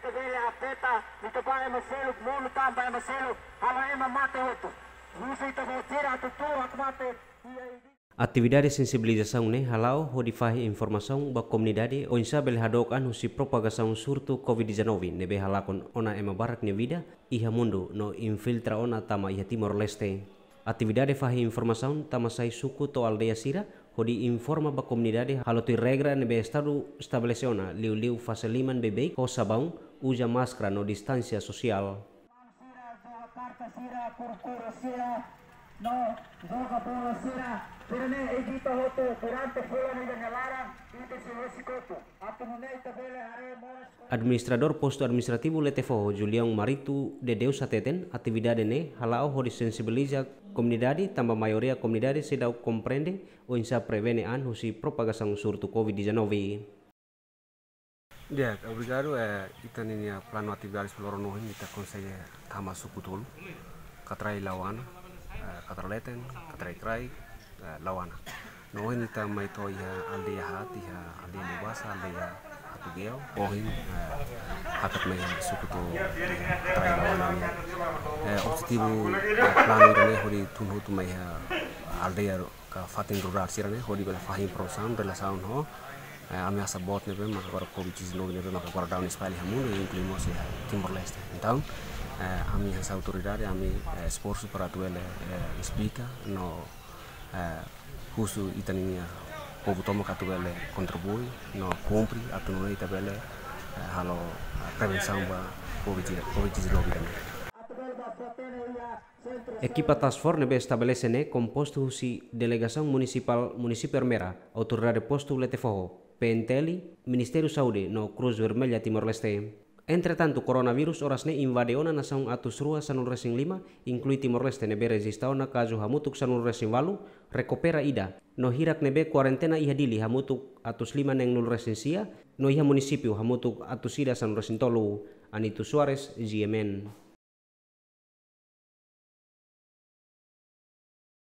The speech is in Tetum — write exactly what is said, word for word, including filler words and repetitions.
Bele afeta ita-boot ema seluk, monu tanba ema seluk, halo ema mate hotu. Husu ita-boot sira atu tau hakmatek iha ida. Atividade sensibilizasaun ne'e hala'o hodi fahe informasaun ba komunidade oinsá bele hadook an husi propagasaun surtu covid dezanove ne'ebé halakon ona ema barak nia vida iha mundu no infiltra ona tama iha Timor-Leste. Atividade fahe informasaun tama sai suku to'o aldeia sira hodi informa ba komunidade halo tuir regra ne'ebé Estadu estabelese ona, liuliu fase liman beibeik ho sabaun, uza máskara no distánsia sosiál. Sira joga karta sira, kuru-kuru sira, no joga bola sira, sira-ne'e evita hotu durante fulan ida nia laran, ita sei husik hotu. Atu nune'e ita bele haree moras. Administradór Postu Administrativu Letefoho, Julião Marito de Deus hateten, atividade ne'e hala'o hodi sensibiliza komunidade, tanba maioria komunidade seidauk komprende oinsá prevene an husi propagasaun surtu covid dezanove. Di'ak, obrigadu. Eh, ita-nia planu atividades ba loron ohin, ita konsege tama suku tolu, Katrai Lauana, eh, Katraleten, Katrai Kraik, eh, Lauana. No ohin ita mai to'o iha aldeia haat, iha aldeia Mubasa, aldeia Hatugeo. Ohin, eh, hakat mai iha suku tolu, iha Katrai Lauana nian. Eh, objetivu, eh, planu ida-ne'e hodi tun hotu mai iha aldeia ka fatin rurál sira-ne'e, hodi bele fahe informasaun relasaun ho, eh, ameasa boot ne'ebé maka agora covid dezanove ne'ebé maka agora daudaun espalha iha mundu, inklui mós iha Timor-Leste. Entaun, eh, ami hanesan autoridade, ami, eh, esforsu para atu bele, eh, esplika no, eh, husu ita-nia povu tomak atu bele kontribui no kumpre atu nune'e ita bele, eh, halo, eh, prevensaun ba covid, covid dezanove ida-ne'e. Ekipa Task Force ne'ebé estabelese ne'e kompostu husi Delegasaun Munisipál Munisípiu Ermera, Autoridade Postu Letefoho, P N T L, Ministériu Saúde no Cruz Vermelha Timor-Leste. Entretantu, koronavírus oras ne'e invade ona nasaun atus rua sanulu resin lima, inklui Timor-Leste ne'ebé rejista ona kazu hamutuk sanulu resin ualu, rekupera ida, no hirak ne'ebé kuarentena iha Dili hamutuk atus lima neenulu resin sia, no iha munisípiu hamutuk atus ida sanulu resin tolu. Anito Soares, G M N.